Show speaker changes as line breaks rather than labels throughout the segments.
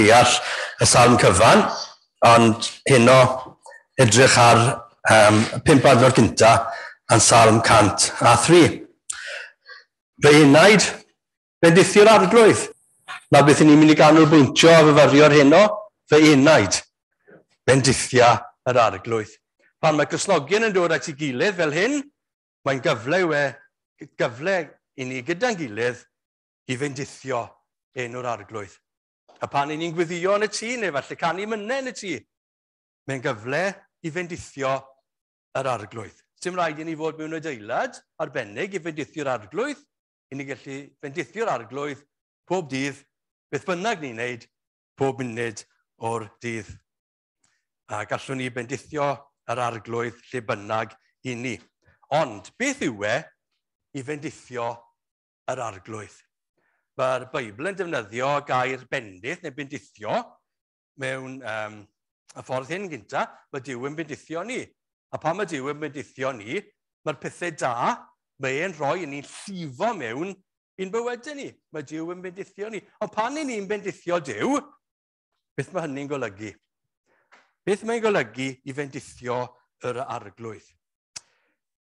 deall y salm cyfan, ond heno edrych ar 5 adnod cynta yn Salm 103. Fy enaid, bendithio'r Arglwydd. Na beth ni'n mynd i ganolbwyntio a fyfyrio'r heno, fy enaid, bendithia yr Arglwydd. Pan mae Cristnogion yn dod at ei gilydd fel hyn, mae'n gyfle yw e, gyfle i ni gyda'n gilydd i fendithio enw'r Arglwydd. A pan ni'n gweddio yn y tŷ, neu falle canu mynau yn y tŷ, mae'n gyfle i fendithio yr Arglwydd. Sim rhaid i ni fod mewn adeilad arbennig i fendithio'r Arglwydd, i ni gallu fendithio'r Arglwydd pob dydd, beth bynnag ni'n neud, pob munud o'r dydd. A gallwn ni bendithio yr Arglwydd lle bynnag i ni. Ond beth yw e i fendithio yr Arglwydd? Mae'r Beibl yn defnyddio gair bendith neu bendithio mewn y ffordd hyn gynta, mae Duw yn bendithio ni. A pan mae Duw yn bendithio ni, mae'r pethau da, mae e'n rhoi i ni'n llifo mewn i'n bywydau ni. Mae Duw yn bendithio ni. Ond pan i ni'n bendithio Duw, beth mae hynny'n golygu? Beth mae'n golygu i fendithio yr Arglwydd?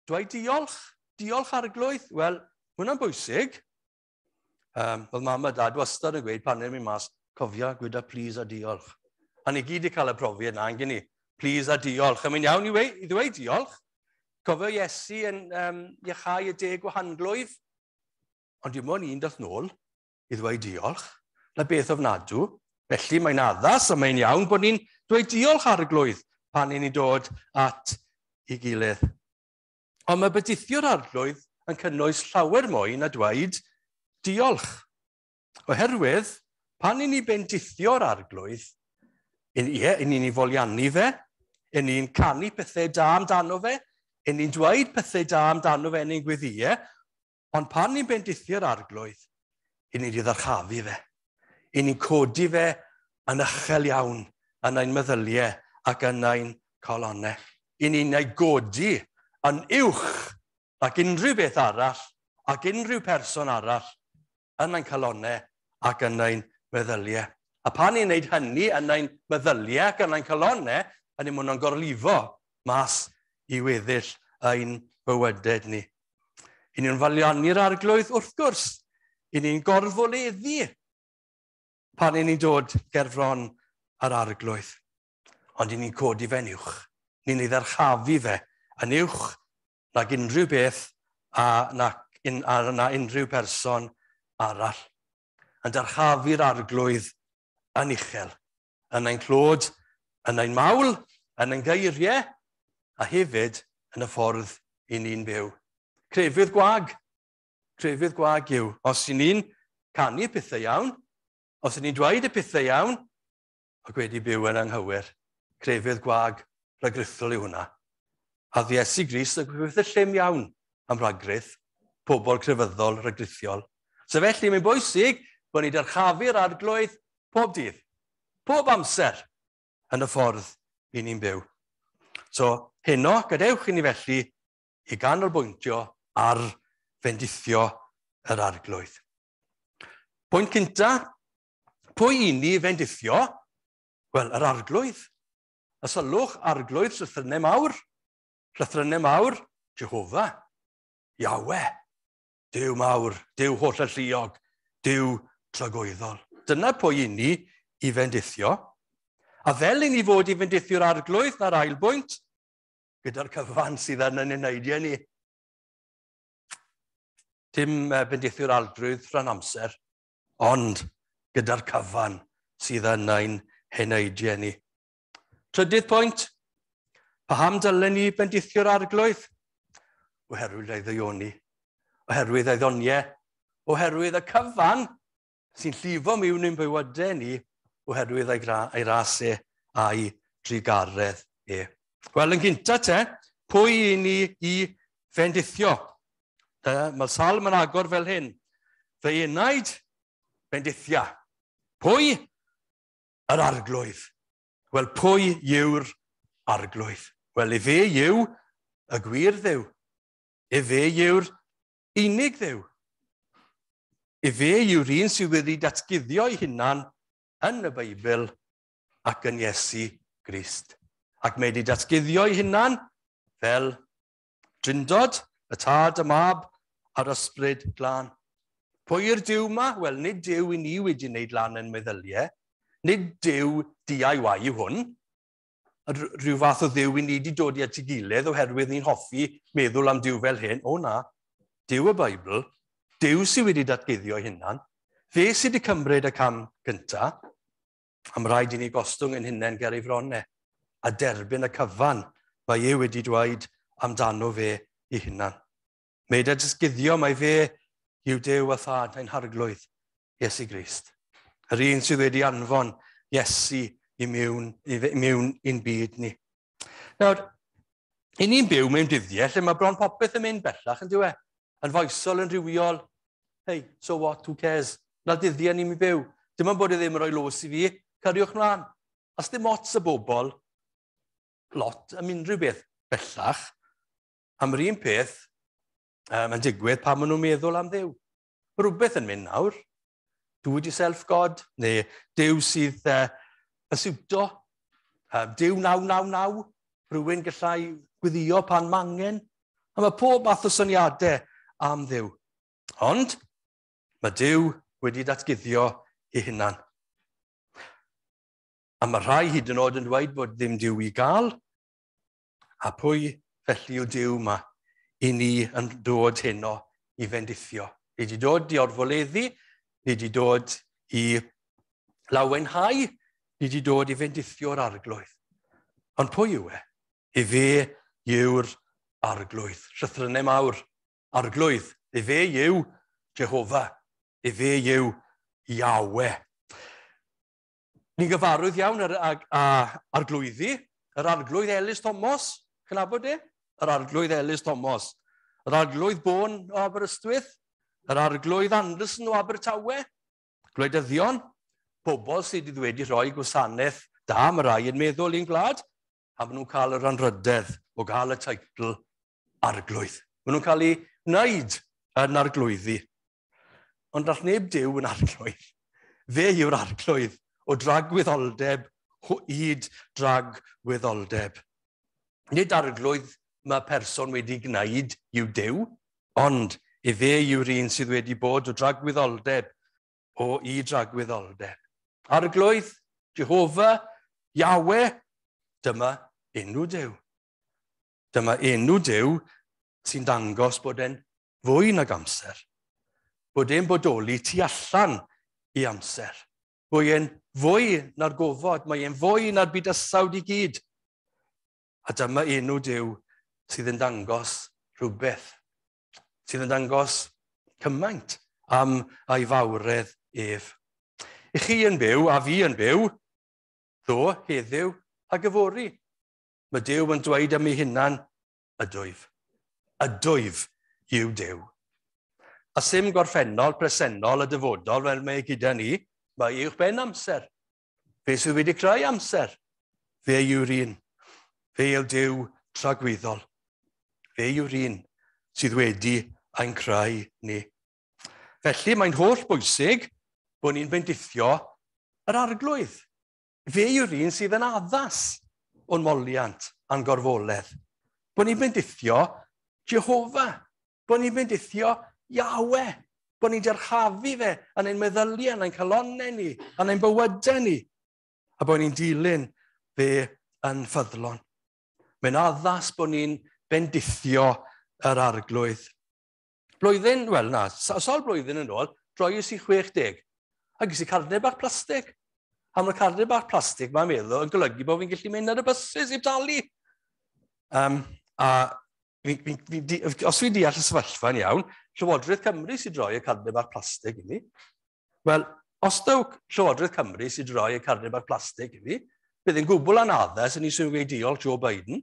Dweud diolch? Diolch Arglwydd? Wel, hwnna'n bwysig. Oedd mam a dad wastad yn gweud pan ni'n mynd mas, cofia, gwyda please a diolch. A ni gyd i cael y profiad na, yn ni. Please a diolch. A mae'n iawn i, i ddweud diolch. Cofio Iesu yn iachau y 10 gwahanglwyf. Ond dim ond un dath nôl i ddweud diolch. Na beth ofnadw. Felly mae'n addas a mae'n iawn bod ni'n dweud diolch Arglwydd pan ni'n dod at ei gilydd. Ond mae bendithio'r Arglwydd yn cynnwys llawer mwy na dweud diolch. Oherwydd, pan i ni bendithio'r Arglwydd, ie, i ni'n ei foliannu fe, i ni'n canu pethau da amdano fe, i ni'n dweud pethau da amdano fe yn ein gweddïau, ond pan ni'n bendithio'r Arglwydd, i ni'n ei ddyrchafu fe. I ni'n codi fe yn uchel iawn yn ein meddyliau ac yn ein calonnau. I ni'n ei godi yn uwch ac unrhyw beth arall ac unrhyw person arall yn ein calonnau ac yn ein meddyliau. A pan ni'n gwneud hynny yn ein meddyliau ac yn ein calonnau, yn ni'n mwyn gorlifo mas i weddill ein bywydau ni. I ni'n foliannu'r Arglwydd wrth gwrs. I ni'n gorfoleddu pan i ni'n dod gerfron yr Arglwydd. Ond i ni'n codi fe'n uwch. Ni'n ei ddyrchafu fe yn uwch nag unrhyw beth a na, a na unrhyw person arall. Yn dyrchafu'r Arglwydd yn uchel, yn ein clod, yn ein mawl, yn ein geiriau, a hefyd yn y ffordd i ni'n byw. Crefydd gwag. Crefydd gwag yw, os i ni'n canu pethau iawn, os i ni'n dweud y pethau iawn, ac wedi byw yn anghywir, crefydd gwag rhagrithol yw hwnna. A Iesu Grist yn pethau llym iawn am ragrith, pobl crefyddol rhagrithiol. So felly mae'n bwysig bod ni'n dyrchafu'r Arglwydd pob dydd, pob amser yn y ffordd i ni'n byw. So heno, gadewch i ni felly i ganolbwyntio ar fendithio yr Arglwydd. Pwynt cynta, pwy i ni fendithio? Wel, yr Arglwydd. A sylwch, Arglwydd, llythrennau mawr. Llythrennau mawr, Jehofa, Yahweh, Duw mawr, Duw holl alluog, Duw tragwyddol. Dyna pwy i ni i fendithio. A fel i ni fod i fendithio'r Arglwydd, na'r ail bwynt, gyda'r cyfan sydd yn ein eneidiau ni. Dim bendithio'r Arglwydd rhan amser, ond gyda'r cyfan sydd yn ein heneidiau ni. Trydydd pwynt, paham dylen ni bendithio'r Arglwydd? Oherwydd ei ddaioni, oherwydd ei ddoniau, oherwydd y cyfan sy'n llifo mewn i'n bywydau ni, oherwydd ei, ei ras e a'i drugaredd e. Wel, yn gynta te, pwy i ni i fendithio? Mae'r salm yn agor fel hyn. Fy enaid, bendithia. Pwy? Yr Arglwydd. Wel, pwy yw'r Arglwydd? Wel, efe yw y gwir Dduw. Efe yw'r unig Dduw. Efe yw'r un sydd wedi datguddio ei hunan yn y Beibl ac yn Iesu Grist. Ac mae wedi datguddio ei hunan fel Drindod, y Tad, y Mab a'r Ysbryd Glân. Pwy yw'r Duw yma? Wel, nid Duw i ni wedi wneud lan yn meddyliau. Nid Duw DIY yw hwn. Rhyw fath o Dduw i ni wedi dod i at ei gilydd oherwydd ni'n hoffi meddwl am Duw fel hyn. O na, Duw y Beibl, Duw sydd wedi datguddio ei hunan, fe sydd wedi cymryd y cam gyntaf, a mae rhaid i ni gostwng yn hunain ger ei fronau a derbyn y cyfan mae e wedi dweud amdano fe ei hunan. Mae e datguddio mae fe yw Duw a Thad ein Harglwydd, Iesu Grist. Yr un sydd wedi anfon Iesu i mewn, i mewn i'n byd ni. Nawr, i ni'n byw mewn dyddiau lle mae bron popeth yn mynd bellach, yn dyw e? Yn foesol, yn rhywiol. Hey, so what, who cares? Na dyddiau ni'n byw. Dim ond bod e ddim yn rhoi los i fi, cariwch mlaen. A dim ots y bobl, lot am unrhyw beth bellach, am yr un peth yn digwydd pan maen nhw'n meddwl am Dduw. Mae rhywbeth yn mynd nawr. Do it yourself God, neu Duw sydd yn siwto. Duw 999, rhywun gallai gweddio pan ma angen. A mae pob math o syniadau am Dduw. Ond mae Duw wedi datguddio ei hunan. A mae rhai hyd yn oed yn dweud bod ddim Duw i gael. A pwy felly yw Duw yma i ni yn dod heno i fendithio? Ni wedi dod i orfoleddu, ni wedi dod i lawenhau, ni wedi dod i fendithio'r Arglwydd. Ond pwy yw e? I fe yw'r Arglwydd. Llythrennau mawr. Arglwydd. I fe yw Jehofa. I fe yw Yahweh. Ni'n gyfarwydd iawn ar arglwyddi. Yr Arglwydd Elis Thomas. Chi'n nabod e? Yr Arglwydd Elis Thomas. Yr Arglwydd Bôn o Aberystwyth. Yr Arglwydd Anderson o Abertawe. Gwleidyddion. Pobl sydd wedi rhoi gwasanaeth da, mae rai yn meddwl i'n gwlad, a maen nhw'n cael yr anrhydedd o gael y teitl Arglwydd. Maen nhw'n cael ei wneud yn arglwyddi. Ond all neb Duw yn arglwydd. Fe yw'r Arglwydd o dragwyddoldeb hyd dragwyddoldeb. Nid arglwydd mae person wedi gwneud yw Duw, ond i fe yw'r un sydd wedi bod o dragwyddoldeb o i dragwyddoldeb. Arglwydd, Jehofa, Yahweh, dyma enw Duw. Dyma enw Duw sy'n dangos bod e'n fwy nag amser. Bod e'n bodoli tu allan i amser. Bod e'n fwy na'r gofod, mae e'n fwy na'r bydysawd i gyd. A dyma enw Duw sydd yn dangos rhywbeth, sydd yn dangos cymaint am ei fawredd ef. I chi yn byw, a fi yn byw, ddo, heddiw ac yfory. Mae Duw yn dweud am ei hunan, ydwyf. Ydwyf yw Duw. A sim gorffennol, presennol a dyfodol fel mae gyda ni, mae uwch ben amser. Fe sydd wedi creu amser, fe yw'r un. Fe yw Duw tragwyddol. Fe yw'r un sydd wedi ein creu ni. Felly mae'n holl bwysig bod ni'n bendithio yr Arglwydd. Fe yw'r un sydd yn addas o'n moliant a'n gorfoledd. Bod ni'n bendithio Jehofa. Bod ni'n bendithio Yahweh. Bod ni'n dyrchafu fe yn ein meddyliau, yn ein calonnau ni, yn ein bywydau ni. A bod ni'n dilyn fe yn ffyddlon. Mae'n addas bod ni'n bendithio yr Arglwydd. Blwyddyn, wel na, sawl blwyddyn yn ôl, droies i 60. A ges i carnau bach plastig. A mae'r carnau bach plastig, mae'n meddwl, yn golygu bod fi'n gallu mynd ar y buses i dalu. Os fi'n deall y sefyllfa'n iawn, Llywodraeth Cymru sy'n droi y carnau bach plastig i mi. Wel, os daw Llywodraeth Cymru sy'n droi y carnau bach plastig i mi, bydd yn gwbl anaddas yn i sy'n gweud diolch Joe Biden,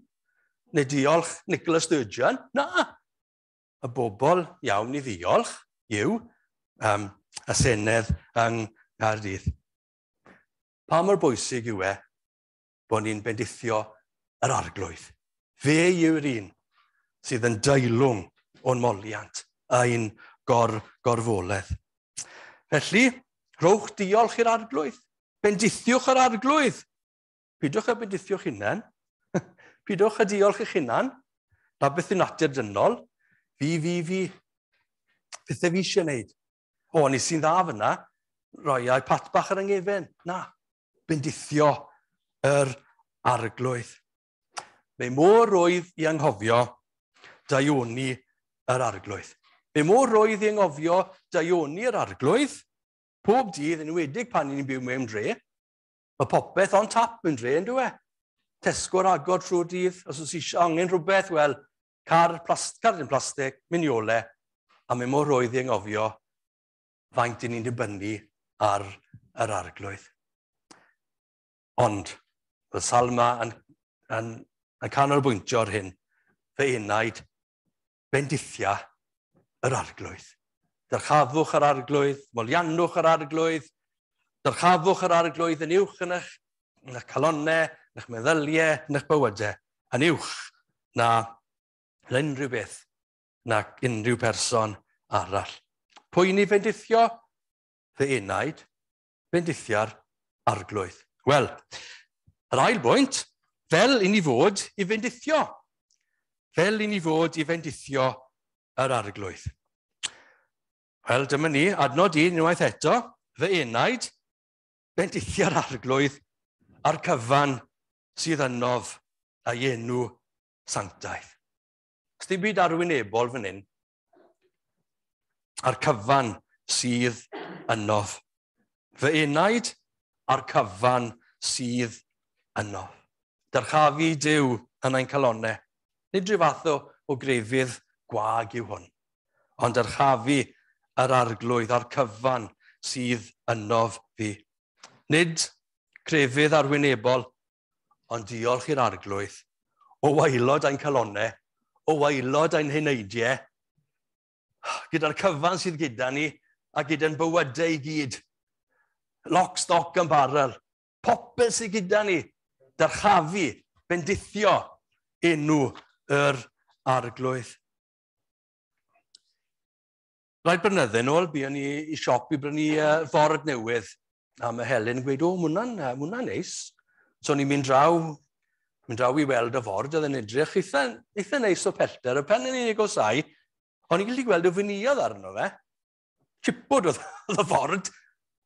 neu diolch Nicola Sturgeon. Na! Y bobl iawn i ddiolch yw y Senedd yng Nghaerdydd. Pa mor bwysig yw e bod ni'n bendithio yr Arglwydd? Fe yw'r un sydd yn deilwng o'n moliant ein gorfoledd. Felly, rhowch diolch i'r Arglwydd. Bendithiwch yr Arglwydd. Pidwch â bendithiwch hunain. Pidwch â diolch eich hunan. Na beth yw natur dynol. Fi, fi, fi. Pethau fi eisiau gwneud. O, ni sy'n dda fyna. Roi ai pat bach ar yng Na. Bendithio yr Arglwydd. Mae mor rwydd i anghofio daioni yr Arglwydd. Mae mor rwydd i anghofio daioni yr Arglwydd pob dydd, yn enwedig pan ni'n byw mewn dre. Mae popeth on tap yn dre, yn dwi? Tesco ar agor trwy'r dydd, os oes eisiau angen rhywbeth, wel, car, plast, car dim plastig, miniole, a mae mor rwydd i anghofio faint i ni'n dibynnu ar yr Arglwydd. Ond, y salma yn, yn, yn canolbwyntio ar hyn, fy enaid, bendithia yr Arglwydd. Dyrchafwch yr Arglwydd, moliannwch yr Arglwydd, dyrchafwch yr Arglwydd yn uwch yn eich, yn eich calonnau, yn eich meddyliau, yn eich bywydau, yn uwch na unrhyw beth, na unrhyw person arall. Pwy ni fendithio? Fy enaid, bendithia'r Arglwydd. Wel, yr ail bwynt, fel i ni fod i fendithio. Fel i ni fod i fendithio yr Arglwydd. Wel, dyma ni, adnod 1 unwaith eto, fy enaid, bendithia'r Arglwydd a'r cyfan sydd ynof a'i enw sanctaidd. Dim byd arwynebol fan hyn. A'r cyfan sydd ynof. Fy enaid a'r cyfan sydd ynof. Dyrchafu Duw yn ein calonnau. Nid rhyw fath o grefydd gwag yw hwn, ond dyrchafu yr Arglwydd a'r cyfan sydd ynof fi. Nid crefydd arwynebol, ond diolch i'r Arglwydd o waelod ein calonnau, o waelod ein heneidiau, gyda'r cyfan sydd gyda ni a gyda'n bywydau i gyd. Lock, stock and barrel. Popeth sydd gyda ni, dyrchafu, bendithio enw yr Arglwydd. Rai blynydde nôl, buon ni i siop i brynu ford newydd. A mae Helen yn gweud, o, ma hwnna'n neis. So ni'n mynd draw i weld y ford, oedd yn edrych eitha neis o pellter. Y pen yn unig o sai, o'n i'n gallu gweld y veneer arno fe. Chipwood oedd y ford,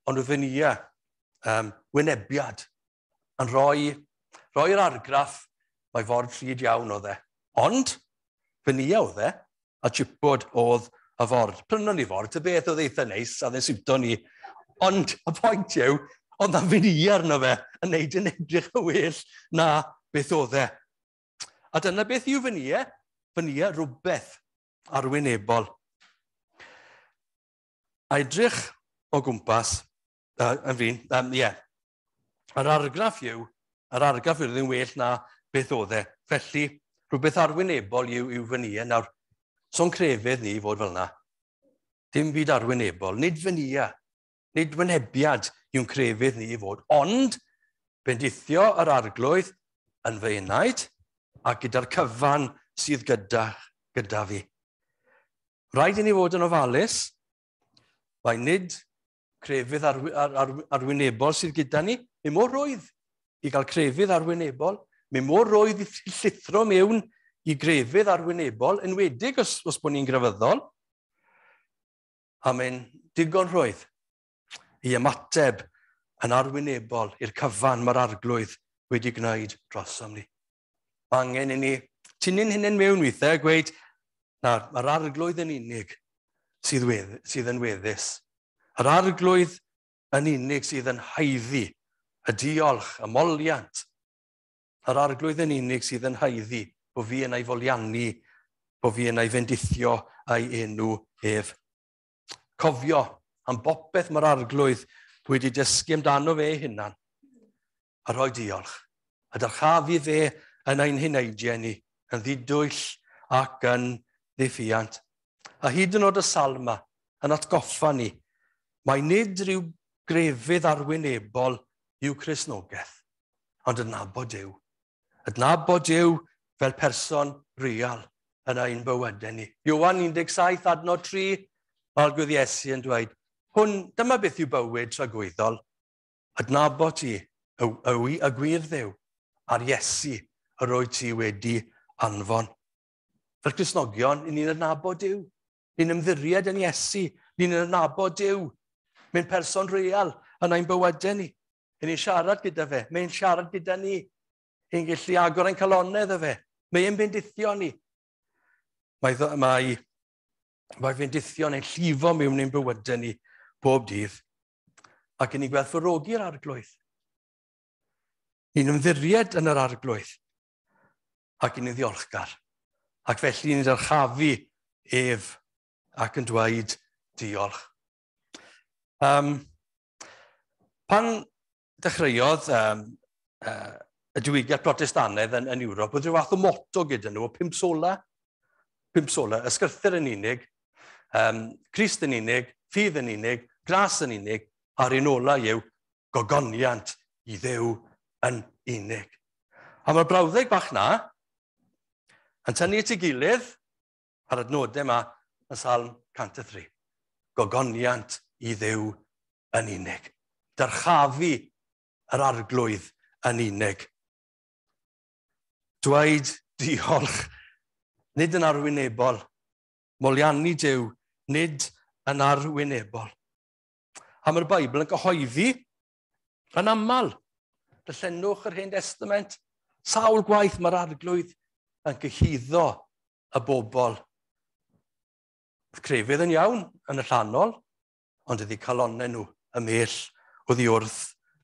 ond oedd veneer, wynebiad, yn rhoi'r argraff mae ford rhyd iawn oedd e. Ond, veneer oedd e, a chipwood oedd y ford. Prynon ni ford, y beth oedd eitha neis, a dde'n siwto ni. Ond y pwynt yw, oedd na veneer arno fe yn neud yn edrych yn well na beth oedd e. A dyna beth yw veneer. Veneer rhywbeth arwynebol. A edrych o gwmpas, yn fi'n, yeah, yr argraff yw ddim well na beth oedd e. Felly, rhywbeth arwynebol yw veneer. Nawr, so'n crefydd ni fod fel yna. Dim byd arwynebol, nid veneer, nid wynebiad yw'n crefydd ni i fod, ond bendithio yr Arglwydd yn fy enaid a gyda'r cyfan sydd gyda fi. Rhaid i ni fod yn ofalus, mae nid crefydd arwynebol sydd gyda ni, mae mor rwydd i gael crefydd arwynebol, mae mor rwydd i llithro mewn i grefydd arwynebol, enwedig os bod ni'n grefyddol, a mae'n digon rhwydd i ymateb yn arwynebol i'r cyfan mae'r Arglwydd wedi gwneud drosom ni. Mae angen i ni tynnu'n hunain mewn weithiau a gweud, na, mae'r Arglwydd yn unig sydd yn weddus. Yr Arglwydd yn unig sydd yn haeddu y diolch, y moliant. Yr Arglwydd yn unig sydd yn haeddu bod fi yn ei foliannu, bod fi yn ei fendithio a'i enw ef. Cofio am bopeth mae'r Arglwydd wedi dysgu amdano fe ei hunan, a rhoi diolch. A dyrchafu fe yn ein heneidiau ni, yn ddidwyll ac yn ddiffuant. A hyd yn oed y salma yn atgoffa ni, mae nid rhyw grefydd arwynebol yw Cristnogaeth, ond adnabod Duw. Adnabod Duw fel person real yn ein bywydau ni. Ioan 17 adnod 3, mae'r Arglwydd Iesu yn dweud, hwn, dyma beth yw bywyd tragwyddol. Adnabod ti, y gwir Dduw, a'r Iesu yr wyt ti wedi anfon. Fel Cristnogion, ni'n adnabod Duw. Ni'n ymddiried yn Iesu. Ni'n adnabod Duw. Mae'n person real yn ein bywydau ni. Ni'n siarad gyda fe. Mae'n siarad gyda ni. Ni'n gallu agor ein calonnau iddo fe. Mae'n bendithio ni. Mae fendithion ein llifo mewn ein bywydau ni bob dydd. Ac ni'n gwerthfawrogi'r Arglwydd. Ni'n ymddiried yn yr Arglwydd. Ac ni'n ddiolchgar. Ac felly ni'n dyrchafu ef ac yn dweud diolch. Pan dechreuodd y diwygiad Protestannaidd yn Ewrop, oedd rhyw fath o motto gyda nhw, o pump sola. Pump sola, ysgrythur yn unig, Crist yn unig, ffydd yn unig, gras yn unig, a'r un ola yw gogoniant i Dduw yn unig. A mae'r brawddeg bach na yn tynnu at ei gilydd ar adnodau yma yn Salm 103. Gogoniant i Dduw yn unig. Dyrchafu yr Arglwydd yn unig. Dweud diolch, nid yn arwynebol. Moliannu Duw, nid yn arwynebol. A mae'r Beibl yn cyhoeddi yn aml. Darllenwch yr Hen Testament. Sawl gwaith mae'r Arglwydd yn cyhuddo y bobl. Crefydd yn iawn yn y llanol, ond ydy calonnau nhw ymhell oddi wrth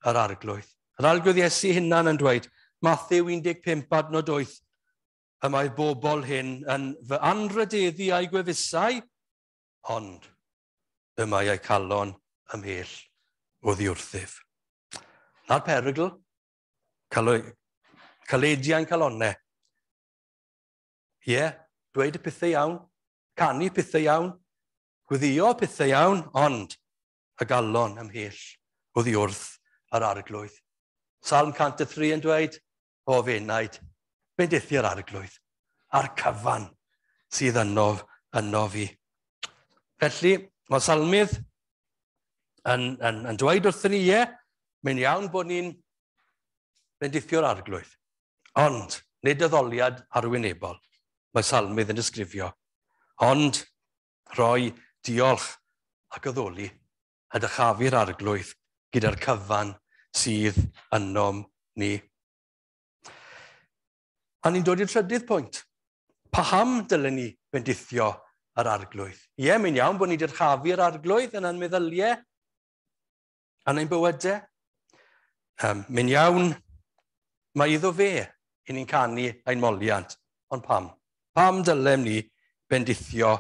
yr Arglwydd. Yr Arglwydd Iesu hunan yn dweud, Mathew 15 adnod 8, y mae'r bobl hyn yn fy anrhydeddu a'u gwefusau, ond y mae eu calon ymhell oddi wrthyf. Na'r perygl, calediau'n calonnau. Ie, dweud y pethau iawn, canu pethau iawn, gweddio pethau iawn, ond y galon ymhell oddi wrth yr Arglwydd. Salm 103 yn dweud, o f'enaid, bendithi'r Arglwydd, a'r cyfan sydd yno fi. Felly, mae Salmydd yn dweud wrthyn ni, ie, mae'n iawn bod ni'n bendithio'r Arglwydd, ond nid addoliad arwynebol, mae Salmydd yn disgrifio, ond rhoi diolch ac addoli a dyrchafu'r Arglwydd gyda'r cyfan sydd ynom ni. A ni'n dod i'r trydydd pwynt. Paham dylen ni bendithio yr Arglwydd? Ie, mae'n iawn bod ni'n dyrchafu'r Arglwydd yn ein meddyliau, yn ein bywydau. Mae'n iawn, mae iddo fe i ni'n canu ein moliant. Ond pam? Pam dylem ni bendithio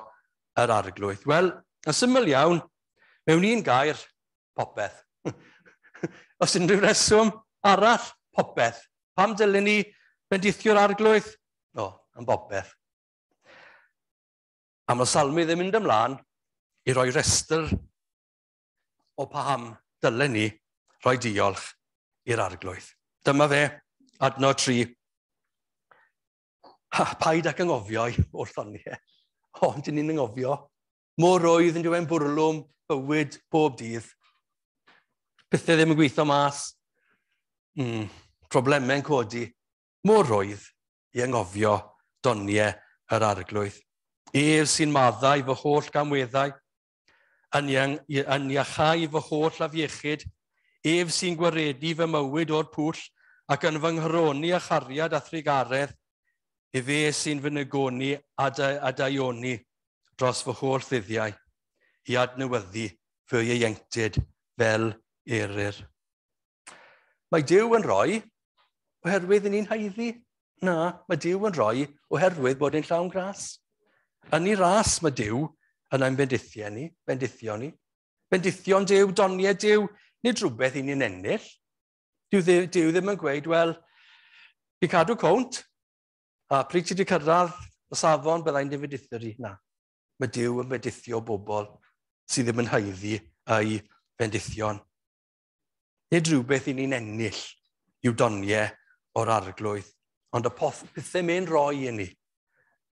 yr Arglwydd? Wel, yn syml iawn, mewn un gair, popeth. Os unrhyw reswm arall, popeth. Pam dylen ni bendithio'r Arglwydd? O, am bopeth. A mae Salmydd yn mynd ymlaen i roi restr o paham dylen ni roi diolch i'r Arglwydd. Dyma fe, adnod 3. Ha, paid ac anghofio i wrthon ni. O, dyn ni'n anghofio. Mor rwydd yn diwen bwrlwm bywyd bob dydd. Pethau ddim yn gweithio mas. Problemau'n codi. Mor rwydd i anghofio doniau yr Arglwydd. Ef sy'n maddau fy holl gamweddau, yn iachau fy holl afiechyd, ef sy'n gwaredu fy mywyd o'r pwll ac yn fy nghroni a chariad a thrugaredd, efe sy'n fy nygoni a daioni dros fy holl ddyddiau, i adnewyddu fy ieuenctid fel eryr. Mae Duw yn rhoi oherwydd ni'n haeddu. Na, mae Duw yn rhoi oherwydd bod e'n llawn gras. Yn ei ras mae Duw yn ein bendithiau ni, bendithio ni. Bendithion Duw, doniau Duw, nid rhywbeth i ni'n ennill. Duw ddim yn gweud, wel, fi'n cadw cownt, a pryd ti wedi cyrraedd y safon, byddai'n dy fendithio di. Na, mae Duw yn bendithio bobl sydd ddim yn haeddu ei bendithion. Nid rhywbeth i ni'n ennill i'w doniau o'r Arglwydd, ond y pethau mae'n rhoi i ni,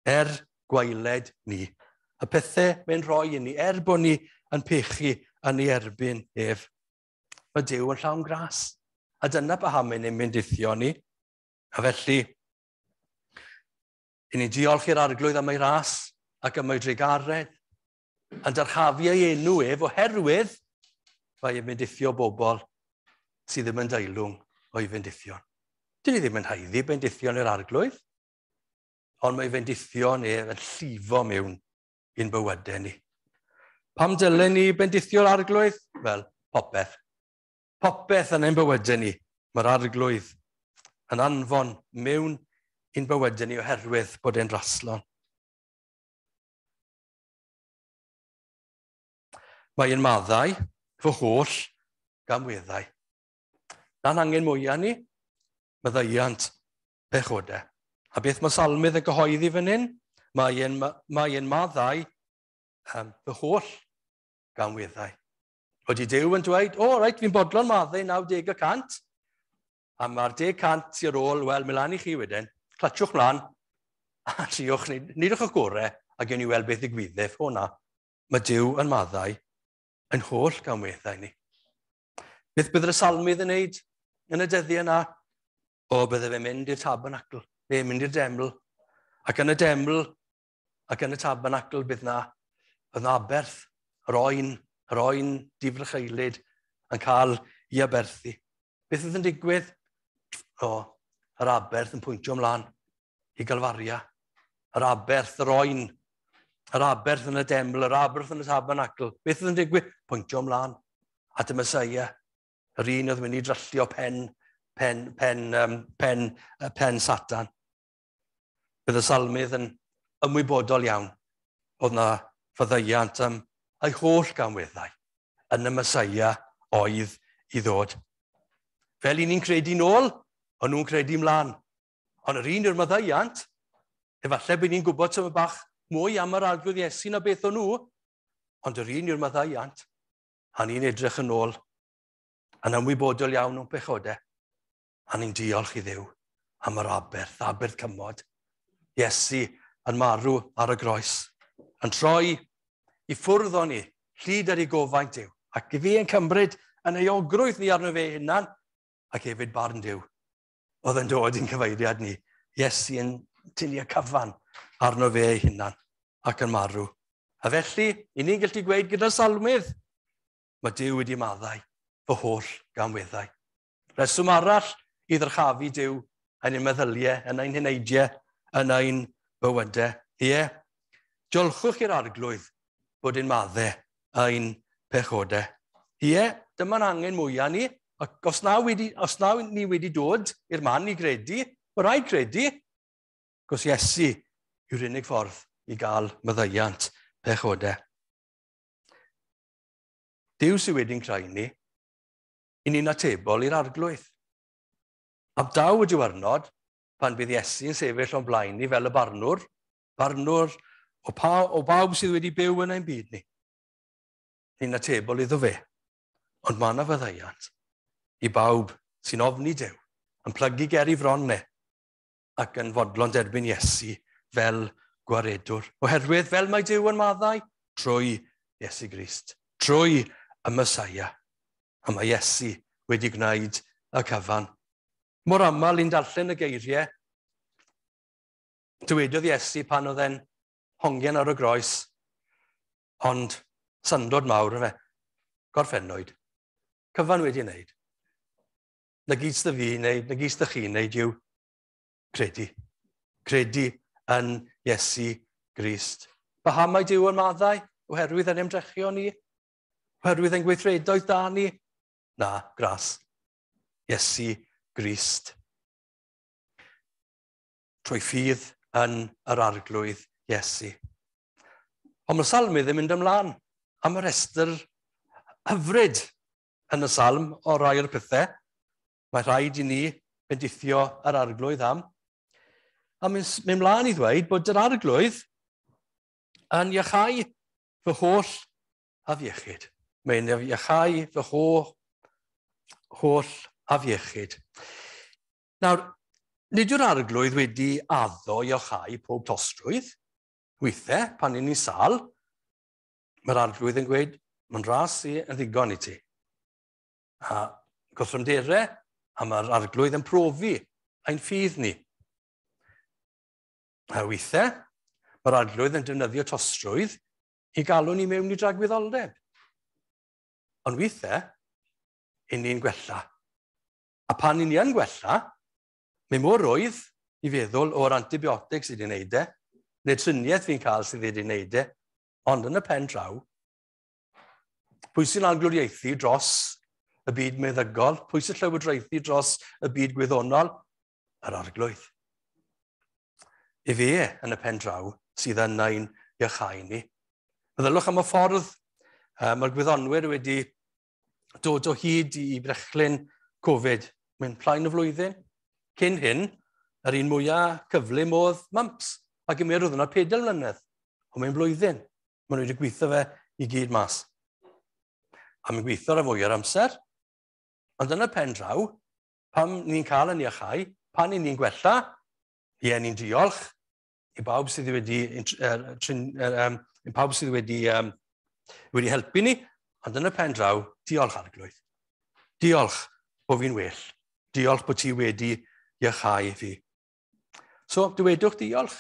er gwaeled ni. Y pethau mae'n rhoi i ni, er bod ni yn pechu yn ei erbyn ef. Mae Duw yn llawn gras. A dyna paham mae'n ein bendithio ni. A felly, i ni diolch i'r Arglwydd am ei ras ac am ei drugaredd, yn dyrchafu ei enw ef oherwydd mae e'n bendithio bobl sydd ddim yn deilwng o'i fendithion. Dyn ni ddim yn haeddu bendithion i'r Arglwydd, ond mae fendithion ef yn llifo mewn i'n bywydau ni. Pam dylen ni bendithio'r Arglwydd? Wel, popeth. Popeth yn ein bywydau ni, mae'r Arglwydd yn anfon mewn i'n bywydau ni oherwydd bod e'n raslon. Mae e'n maddau fy holl gamweddau. Na'n angen mwyaf ni, maddeuant pechodau. A beth mae Salmydd yn gyhoeddi fan hyn? Mae e'n mae e'n maddau fy holl gamweddau. Wedi Duw yn dweud, o, reit, fi'n bodlon maddau 90%, a mae'r 10% sy'n ar ôl, wel, mi lan i chi wedyn, clatsiwch mlaen, a triwch, nidwch o'ch gorau, a gewn ni weld beth ddigwyddith. O na, mae Duw yn maddau yn holl gamweddau ni. Beth bydd y salmydd yn wneud yn y dyddiau yna? O, bydde fe'n mynd i'r tabernacl, neu mynd i'r deml. Ac yn y deml, ac yn y tabernacl, bydd na, bydd na aberth, yr oen, yr oen difrycheulyd yn cael ei aberthu. Beth oedd yn digwydd? O, yr aberth yn pwyntio ymlaen i Galfaria. Yr aberth, yr oen, yr aberth yn y deml, yr aberth yn y tabernacl. Beth oedd yn digwydd? Pwyntio ymlaen at y Mesoea. Yr un oedd mynd i dryllio pen, pen, pen, um, pen, pen Satan. Bydd y salmydd yn ymwybodol iawn oedd na faddeuant am ei holl gamweddau yn y Mesoea oedd i ddod. Fel i ni'n credu nôl, o'n nhw'n credu mlaen. Ond yr un yw'r maddeuant, efallai bod ni'n gwybod tyma bach mwy am yr Arglwydd Iesu na beth o'n nhw, ond yr un yw'r maddeuant, a ni'n edrych yn ôl, yn ymwybodol iawn o'n pechodau, a ni'n diolch i Dduw am yr aberth, aberth cymod. Iesu yn marw ar y groes, yn troi i ffwrdd o'n ni, llid ar ei gofaint Duw, ac i fi yn cymryd yn euogrwydd ni arno fe hunan, ac hefyd barn Duw. Oedd yn dod i'n cyfeiriad ni. Iesu yn tynnu y cyfan arno fe ei hunan ac yn marw. A felly, i ni'n gallu gweud gyda'r salmydd, mae Duw wedi maddau fy holl gamweddau. Reswm arall i ddyrchafu Duw yn ein meddyliau, yn ein heneidiau, yn ein bywydau. Ie, diolchwch i'r Arglwydd bod ein maddau ein pechodau. Ie, dyma'n angen mwyaf ni. Ac os na, wedi, os na ni wedi dod i'r man i gredu, mae rhaid credu. Cos Iesu yw'r unig ffordd i gael maddeuant pechodau. Duw sydd wedi'n creu ni, i ni'n atebol i'r Arglwydd. A daw y diwrnod, pan bydd Iesu yn sefyll o'n blaen ni fel y barnwr, barnwr o, pa, o bawb sydd wedi byw yn ein byd ni. Ni'n atebol iddo fe. Ond mae yna faddeuant i bawb sy'n ofni Duw, yn plygu ger i fron ne, ac yn fodlon derbyn Iesu fel gwaredwr. Oherwydd fel mae Duw yn maddau, trwy Iesu Grist, trwy y Mesoea. A mae Iesu wedi gwneud y cyfan. Mor aml i'n darllen y geiriau, dywedodd Iesu pan oedd e'n hongian ar y groes, ond syndod mawr fe, gorffennwyd, cyfan wedi wneud. Na gyd sydd fi wneud, na gyd sydd chi wneud yw credu. Credu yn Iesu Grist. Paham mae Duw yn maddau? Oherwydd yn ymdrechion ni? Oherwydd yn gweithredoedd da ni? Na, gras. Iesu Grist. Trwy ffydd yn yr Arglwydd Iesu. Ond mae'r salmydd yn mynd ymlaen am y rhestr hyfryd yn y salm o rai o'r pethau. Mae rhaid i ni bendithio yr Arglwydd am. A mynd, mynd mlaen i ddweud bod yr Arglwydd yn iachau fy holl afiechyd. Mae'n iachau fy holl, holl afiechyd. Nawr, nid yw'r Arglwydd wedi addo i iachau pob tostrwydd. Weithiau, pan ni'n sâl, mae'r Arglwydd yn gweud, mae'n ras i yn ddigon i ti. A gorthrymderau, a mae'r arglwydd yn profi ein ffydd ni. A weithiau, mae'r arglwydd yn defnyddio tostrwydd i galw ni mewn i dragwyddoldeb. Ond weithiau, i ni'n gwella. A pan i ni yn gwella, mae mor rwydd i feddwl o'r antibiotics sydd wedi wneud e, neu triniaeth fi'n cael sydd wedi wneud e, ond yn y pen draw, pwy sy'n arglwyddiaethu dros y byd meddygol, pwy sy'n llywodraethu dros y byd gwyddonol? Yr arglwydd. I fe yn y pen draw sydd yn ein iachau ni. Meddylwch am y ffordd mae'r gwyddonwyr wedi dod o hyd i brechlyn Covid mewn plaen y flwyddyn. Cyn hyn, yr un mwyaf cyflym oedd mumps, a gymerodd yna 4 mlynedd, ond mewn blwyddyn. Maen nhw wedi gweithio fe i gyd mas. A mae'n gweithio ar y fwy o'r amser. Ond yn y pen draw, pam ni'n cael yn iachau, pan ni'n gwella, ie, ni'n diolch i bawb sydd wedi, pawb sydd wedi, wedi helpu ni, ond yn y pen draw, diolch arglwydd. Diolch bod fi'n well. Diolch bod ti wedi iachau fi. So, dywedwch diolch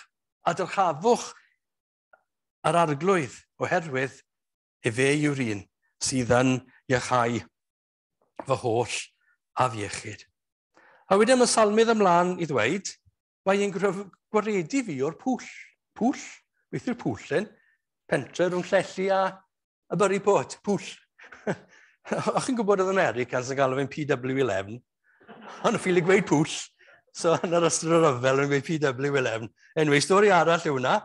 a dyrchafwch yr arglwydd, oherwydd efe yw'r un sydd yn iachau fy holl afiechyd. A wedyn mae salmydd ymlaen i ddweud, mae e'n gwaredu fi o'r pwll. Pwll? Beth yw'r pwll yn? Pentre rhwng Llanelli a Burry Port. Pwll. O'ch chi'n gwybod oedd Americans yn galw fe'n PW11? Ond ffili gweud pwll. So yn yr ystod o'r rhyfel yn gweud PW11. Anyway, stori arall yw hwnna.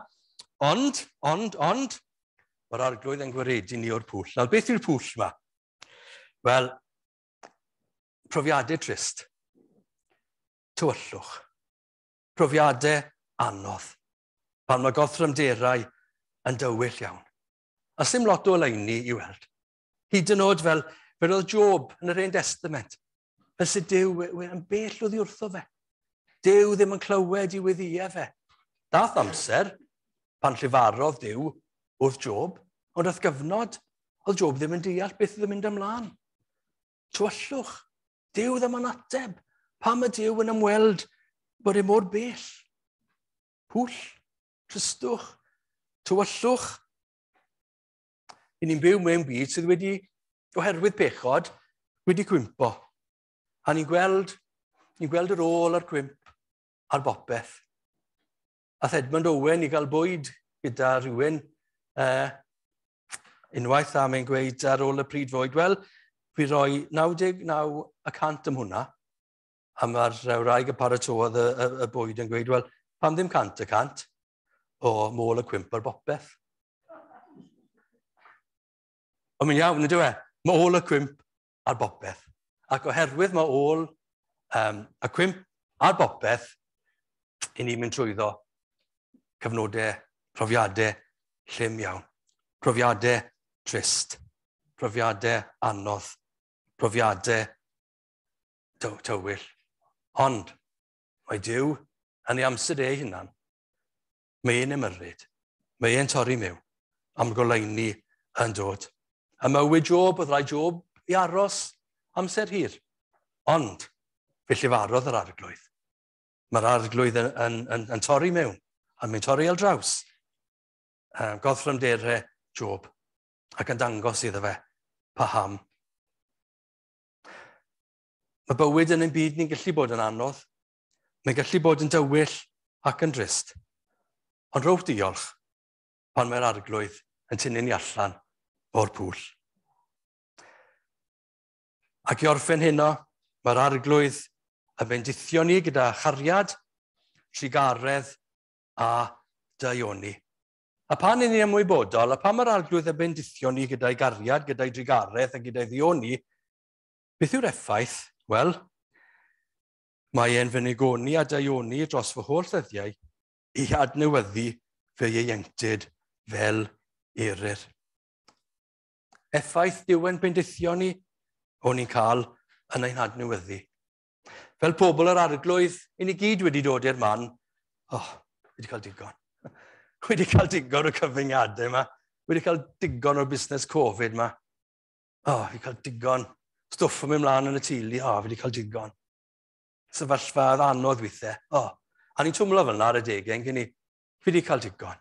Ond, mae'r arglwydd yn gwaredu ni o'r pwll. Nawr, beth yw'r pwll yma? Wel, profiadau trist. Tywyllwch. Profiadau anodd. Pan mae gorthrymderau yn dywyll iawn. A sim lot o oleuni i weld. Hyd yn oed fel oedd Job yn yr Hen Testament. Fel sydd Duw yn bell oddi wrtho fe. Duw ddim yn clywed i weddïau fe. Dath amser pan llefarodd Duw wrth Job, ond wrth gyfnod, oedd Job ddim yn deall beth oedd yn mynd ymlaen. Tywyllwch. Duw ddim yn ateb. Pam y Duw yn ymweld bod e mor bell? Pwll, tristwch, tywyllwch. I ni'n byw mewn byd sydd wedi, oherwydd pechod, wedi cwympo. A ni'n gweld yr ôl a'r cwymp ar bopeth. Ath Edmund Owen i gael bwyd gyda rhywun unwaith, a mae'n gweud ar ôl y pryd fwyd, wel, fi roi 99% am hwnna, a mae'r wraig y paratôdd y bwyd yn gweud, wel, pam ddim 100%? O, môl y cwymp ar bopeth. Ond mae'n iawn, ydyw e? Mae ôl y cwymp ar bopeth. Ac oherwydd mae ôl y cwymp ar bopeth, i ni'n mynd trwyddo cyfnodau, profiadau llym iawn. Profiadau trist, profiadau anodd, profiadau tywyll. Ond mae Duw yn ei amser ei hunan. Mae e'n ymyrryd, mae e'n torri mewn, am goleuni yn dod. A mywyd Job, oedd rhaid Job i aros amser hir. Ond fe llefarodd yr arglwydd. Mae'r arglwydd yn torri mewn, a mae'n torri ar draws. Gorthrymderau Job, ac yn dangos iddo fe paham. Mae bywyd yn ein byd ni'n gallu bod yn anodd. Mae'n gallu bod yn dywyll ac yn drist. Ond rhowch diolch pan mae'r arglwydd yn tynnu ni allan o'r pwll. Ac i orffen heno, mae'r arglwydd yn bendithio ni gyda chariad, trugaredd a daioni. A pan ni'n ymwybodol, a pan mae'r arglwydd yn bendithio ni gyda'i gariad, gyda'i drugaredd a gyda'i ddioni, beth yw'r effaith? Wel, mae e'n fy nigoni a daioni dros fy holl ddyddiau i adnewyddu fy ieuenctid fel eryr. Effaith Duw yn bendithio ni, o'n ni'n cael yn ein hadnewyddu. Fel pobl yr arglwydd, i ni gyd wedi dod i'r man, oh, wedi cael digon. Wedi cael digon o'r cyfyngiadau yma. Wedi cael digon o'r busnes Covid yma. Oh, wedi cael digon Stwff yn mynd mlaen yn y teulu, o, fi wedi cael digon. Sefyllfa anodd weithiau, o. A ni'n twmlo fel yna ar y degau, yn ni, fi wedi cael digon.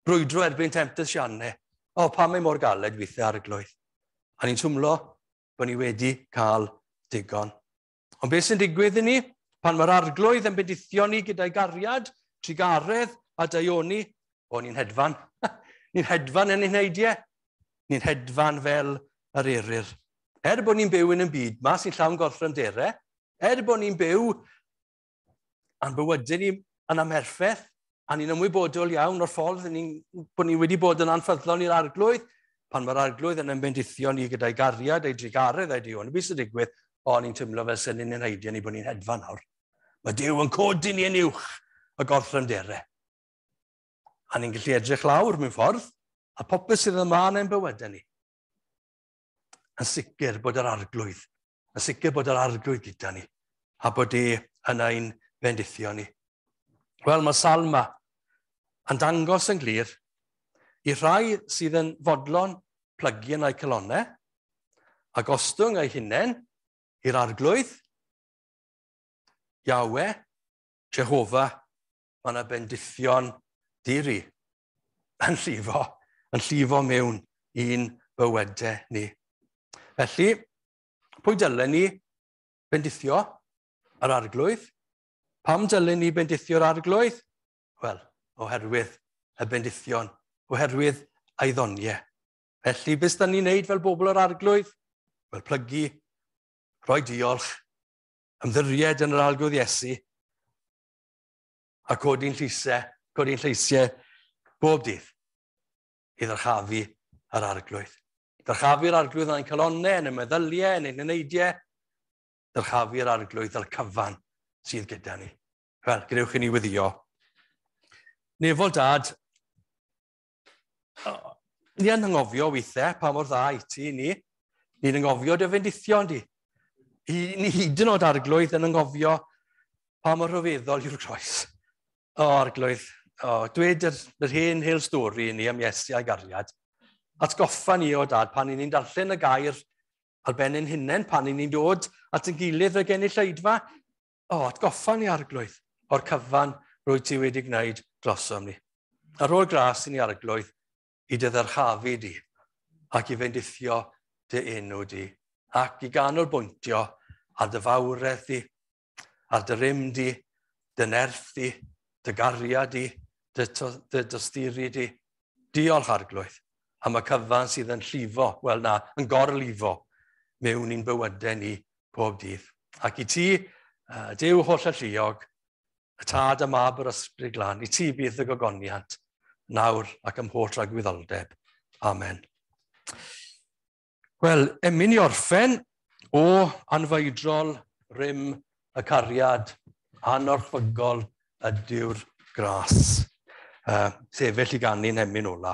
Brwydro erbyn temptasiynau, o, pam mae mor galed weithiau Arglwydd. A ni'n twmlo bod ni wedi cael digon. Ond beth sy'n digwydd i ni? Pan mae'r Arglwydd yn bendithio ni gyda'i gariad, trugaredd a daioni, o, ni'n hedfan. Ni'n hedfan yn ein heidiau. Ni'n hedfan fel yr eryr. Er bod ni'n byw yn y byd ma sy'n llawn gorthrymderau, er bod ni'n byw a'n bywydau ni yn amherffaith, a ni'n ymwybodol iawn o'r ffordd bod ni wedi bod yn anffyddlon i'r Arglwydd, pan mae'r Arglwydd yn ymbendithio ni gyda'i gariad, ei drugaredd, ei daioni, beth sy'n digwydd? O, ni'n teimlo fel sy'n ni'n heidiau ni bod ni'n hedfan nawr. Mae Duw yn codi ni yn uwch y gorthrymderau. A ni'n gallu edrych lawr mewn ffordd, a popeth sydd yma yn ein bywydau ni. Yn sicr bod yr Arglwydd, yn sicr bod yr Arglwydd gyda ni, a bod e yn ein bendithio ni. Wel, mae salm yma yn dangos yn glir i rhai sydd yn fodlon plygu yn eu calonnau a gostwng eu hunain i'r Arglwydd, Yahweh, Jehofa, mae yna bendithion diri yn llifo mewn i'n bywydau ni. Felly, pwy dylen ni bendithio yr Arglwydd? Pam dylen ni bendithio'r Arglwydd? Wel, oherwydd y bendithion, oherwydd ei ddoniau. Felly, beth da ni'n neud fel bobl o'r Arglwydd? Wel, plygu, rhoi diolch, ymddiried yn yr Arglwydd Iesu, a codi'n lleisiau bob dydd i ddyrchafu yr Arglwydd. Dyrchafu'r Arglwydd yn ein calonnau, yn ein meddyliau, yn ein eneidiau. Dyrchafu'r Arglwydd fel cyfan sydd gyda ni. Wel, gadewch i ni weddïo. Nefol Dad, ni yn anghofio weithiau pa mor dda i ti ni. Ni'n anghofio dy fendithion di. Ni hyd yn oed Arglwydd yn anghofio pa mor rhyfeddol yw'r croes. O, Arglwydd, dweud yr hen hel stori i ni am Iesu a'i gariad. Atgoffa ni o Dad pan ni'n darllen y gair ar ben ein hunain, pan ni'n dod at ein gilydd y genulleidfa. O, atgoffa ni Arglwydd o'r cyfan rwy ti wedi gwneud drosom ni. Ar ôl gras i ni Arglwydd i dy ddyrchafu di ac i fendithio dy enw di ac i ganolbwyntio ar dy fawredd di, ar dy rym di, dy nerth di, dy gariad di, dy dosturi di. Diolch Arglwydd am y cyfan sydd yn llifo, wel na, yn gorlifo mewn i'n bywydau ni pob dydd. Ac i ti, Duw holl alluog, y Tad y Mab yr Ysbryd Glân, i ti bydd y gogoniant, nawr ac ym mholl tragwyddoldeb. Amen. Wel, emyn i orffen o anfeidrol rym y cariad anorchfygol ydyw'r gras. Sefyll i ganu'n emyn ola.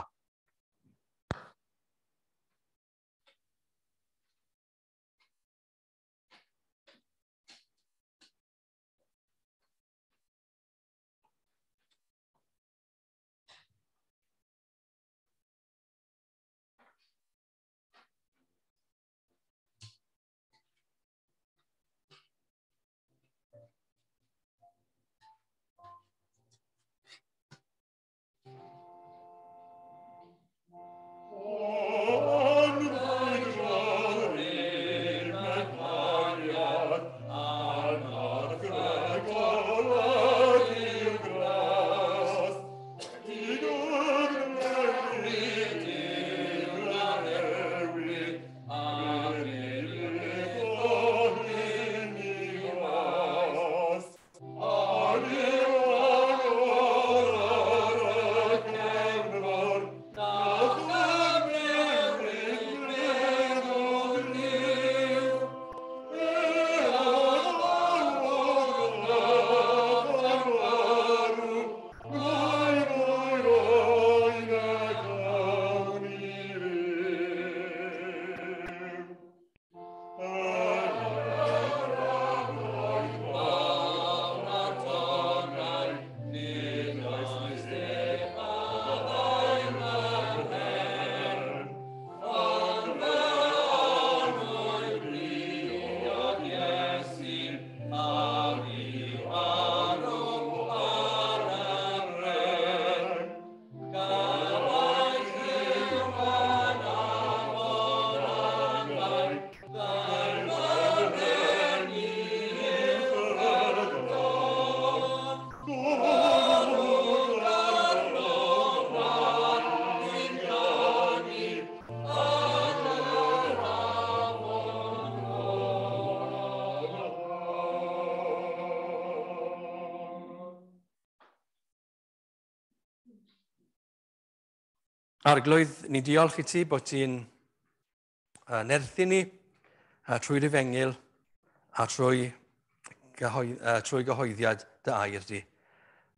Arglwydd, ni'n diolch i ti bod ti'n nerthu ni trwy'r efengyl a trwy gyhoeddiad dy air di.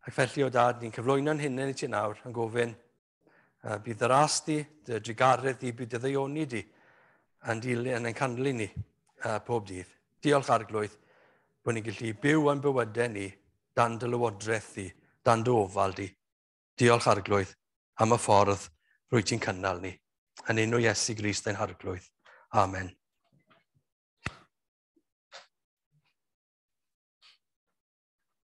Ac felly, o Dad, ni'n cyflwyno'n hunain i ti nawr yn gofyn, bydd dy ras di, dy drugaredd di, bydd dy ddaioni di yn dilyn, yn ein canlyn ni pob dydd. Diolch, Arglwydd, bod ni'n gallu byw yn bywydau ni dan dy lywodraeth di, dan dy ofal di. Diolch, Arglwydd, am y ffordd rwyt ti'n cynnal ni. Yn enw Iesu Grist ein Harglwydd. Amen.